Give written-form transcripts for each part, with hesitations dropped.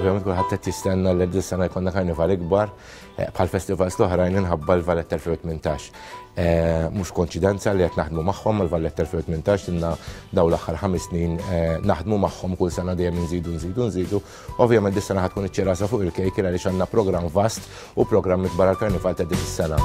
Ovvjament kulħadd qed jistenna li din sena jkollna karnival ikbar eh, bħal festivals l-oħrajn inħabba l-Valletta 2018. Eh, mhux konċidenza li qed naħdmu magħhom mal-Valletta 2018 inna daw l-aħħar ħames snin eh, naħdmu magħhom kull sena dejjem nżidu nżidu nżidu. Ovvjament dis sena ħatkun iċ-ċirasa fuq il-kejk għaliex għandna programm vast u programm ikbar għall-karnival ta' din is-sena.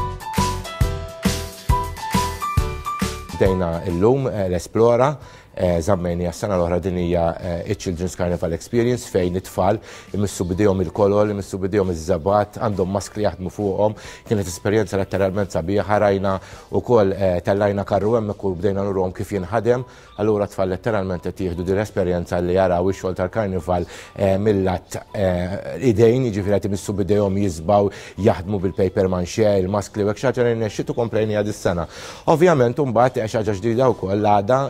Bdejna illum l-Esplora Żammejniha s-sena l-oħra din hija iċ-Children's Carnival Experience fejn it-tfal imissu b'idejhom il-kolol, imissu b'idejhom iż-żebgħat, għandhom maskli jaħdmu fuqhom. Kienet esperjenza letteralment sabiħa, rajna wkoll tellajna karru hemmhekk u bdejna nuruhom kif jinħadem. Allura t-tfal letteralment qed jieħdu din l-esperjenza li jaraw ix-xogħol tal-karnival mil-lat idejn, jiġifieri qed imissu b'idejhom jiżbgħu, jaħdmu bil-paper maché, il-maskli u hekk xi ħaġa li rnexxiet u komplejniha dis-sena. Ovvjament imbagħad xi ħaġa ġdida wkoll l-għada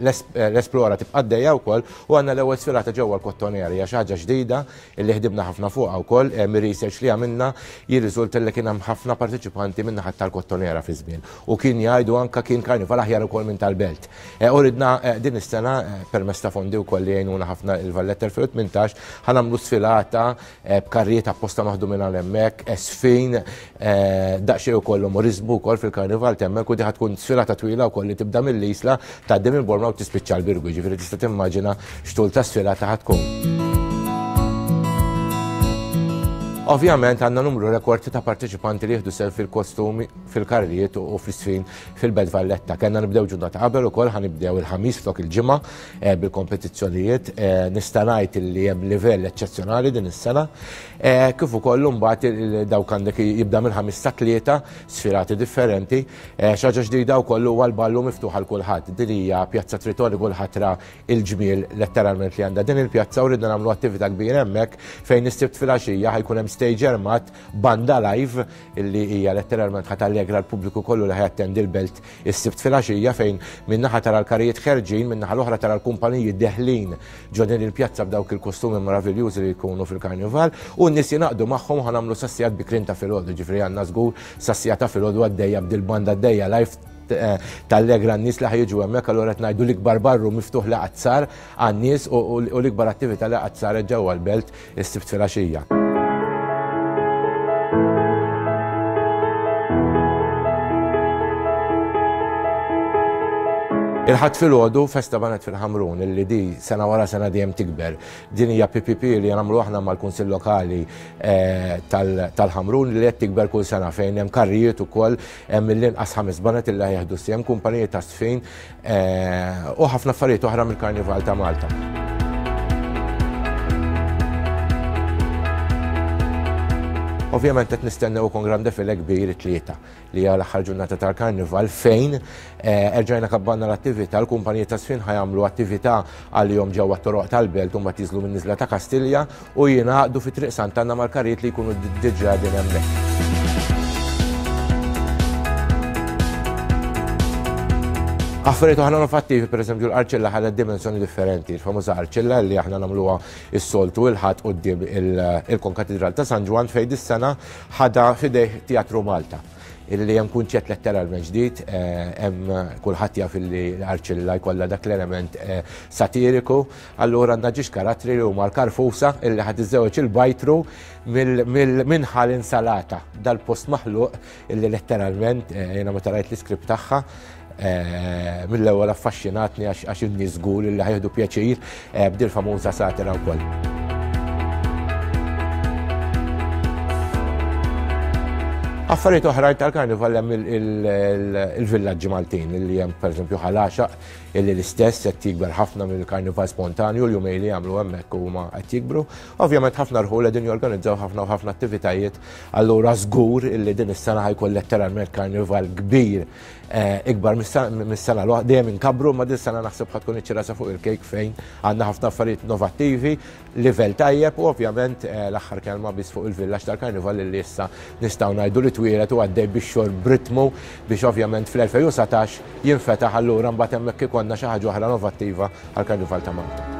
l-Esplora tibqa' għaddejja wkoll u għandna l-ewwel sfilata ġewwa l-Kottonera hija xi ħaġa ġdida li ħdimna ħafna fuqha wkoll mir-research li għamilna jirriżulta li kien hemm ħafna parteċipanti min-naħa tal-Kottonera fi żmien u kien jgħidu anke kien karnival aħjar ukoll minn tal-Belt. U ridna din is-sena permezz ta' fondi wkoll li jgħinuna ħafna il-Valletta 2018 ħa nagħmlu sfilata b'karrijiet apposta maħdumin għal hemmhekk, żfin, daqsxejn ukoll umoriżmu wkoll fil-karnival t'hemmhekk u di ħa tkun sfilata twila wkoll li tibda mill-Isla, tgħaddi minn Bormla u tispiċċa l-Birgu, jiġifieri tista' timmaġina x'tul ta' sfilata ħa tkun. Ovvjament għandna numru rekord ta' parteċipanti li jieħdu sehem fil-kostumi, fil-karrijiet u fl-isfin fil-Belt Valletta. Kellna nibdew ġurnata qabel ukoll ħa nibdew il-Ħamis flok il-Ġimgħa bil-kompetizzjonijiet. Nista' ngħid li hemm livell eċċezzjonali din is-sena. Kif ukoll imbagħad dawk għandek jibda mill-ħamis sa tlieta sfilati differenti. Xi ħaġa ġdida wkoll huwa l-ballu miftuħ għal kulħadd. Din hija Pjazza Tritoni kulħadd ra il-ġmiel letteralment li għandha din il-pjazza u ridna nagħmlu attività kbira hemmhekk fejn is-Sibt filgħaxija ħa jkun hemm stage armat banda live illi hija letteralment ħa tallegra l-pubbliku kollu li ħa jattendi l-belt is-Sibt filgħaxija fejn minn naħa tara l-karijiet ħerġin, minn naħa l-oħra tara l-kumpaniji deħlin ġo din il-pjazza b'dawk il-kostumi meraviljużi li jkunu fil-karnival u n-nies jingħaqdu magħhom ħa nagħmlu sas-sigħat bikrin ta' filgħodu, ġifieri għandna żgur sas-siegħa ta' filgħodu għaddejja b'dil-banda għaddejja live tallegra n-nies li ħa jiġu hemmhekk allura qed ngħidu l-ikbar barru miftuħ li qatt sar għan-nies u l-ikbar attività li qatt saret ġewwa l-belt is-Sibt filgħaxija. Il-Ħadd filgħodu festa banet fil-Ħamrun illi di sena wara sena dejjem tikber. Din hija PPP li nagħmlu aħna mal-Kunsill Lokali eh, tal-Ħamrun li qed tikber kull sena fejn hemm karrijiet ukoll hemm mill-inqas ħames banet illi jieħdu sehem kumpaniji ta' sfin U ħafna affarijiet oħra mill-Karnival ta' Malta. Ovvjament qed nistennew ukoll gran defile kbir it-tlieta li hija l-aħħar ġurnata tal-Karnival fejn eh, erġajna kabbanna l-attività, l-kumpaniji ta' sfin ħajamlu attività għalihom ġewwa t-toroq tal-belt u mbagħad jiżlu minn niżla ta' Kastilja u jingħaqdu fi Triq Sant'Anna mal-karrijiet li jkunu diġà din hemmhekk. Affarijiet oħra innovattivi, per eżempju, l-arċilla ħadet dimensjoni differenti, il-famuża arċilla li aħna nagħmluha s-soltu il-ħadd quddiem il-Konkatedral ta' San Ġwann fejn dis-sena ħadha f'idejh Teatru Malta illi hemm kunċett letteralment ġdid, eh, hemm kulħadd jaf illi l-arċilla jkollha dak l-element eh, satiriku, Allura għandna ġiex karattri li huma l-karfusa illi ħad iżżewweġ il-bajtru minn ħal insalata. Dal-post maħluq illi letteralment eh, jiena meta rajt l-iskript tagħha eh, mill-ewwel affaxxinatni għax in-nies żgur illi ħajħdu pjaċir eh, b'dil famuża satira wkoll. Affarijiet oħrajn tal-karnival hemm il-villaġġi Maltin li hemm pereżempju ħalaxaq illi l-istess qed jikber ħafna mill-karnival spontanju l-jumej li jagħmlu hemmhekk huma qed jikbru. Ovvjament ħafna rħul qegħdin jorganizzaw ħafna u ħafna attivitajiet, allura żgur illi din is-sena ħajkun letteralment karnival kbir eh, ikbar mis-sena l dejjem inkabru ma din sena naħseb ħad tkun iċ-ċirasa fuq il-kejk fejn għandna ħafna affarijiet innovattivi livell tajjeb u ovvjament eh, l-aħħar kelma biss fuq il-villaġġ tal-Karnival li issa nistgħu ngħidu li twieled u għaddej bix-xogħol b'ritmu biex ovvjament fl-2019 jinfetaħ allura mbagħad hemmhekk ikollna xi ħaġa oħra innovattiva għall-Karnival ta' Malta.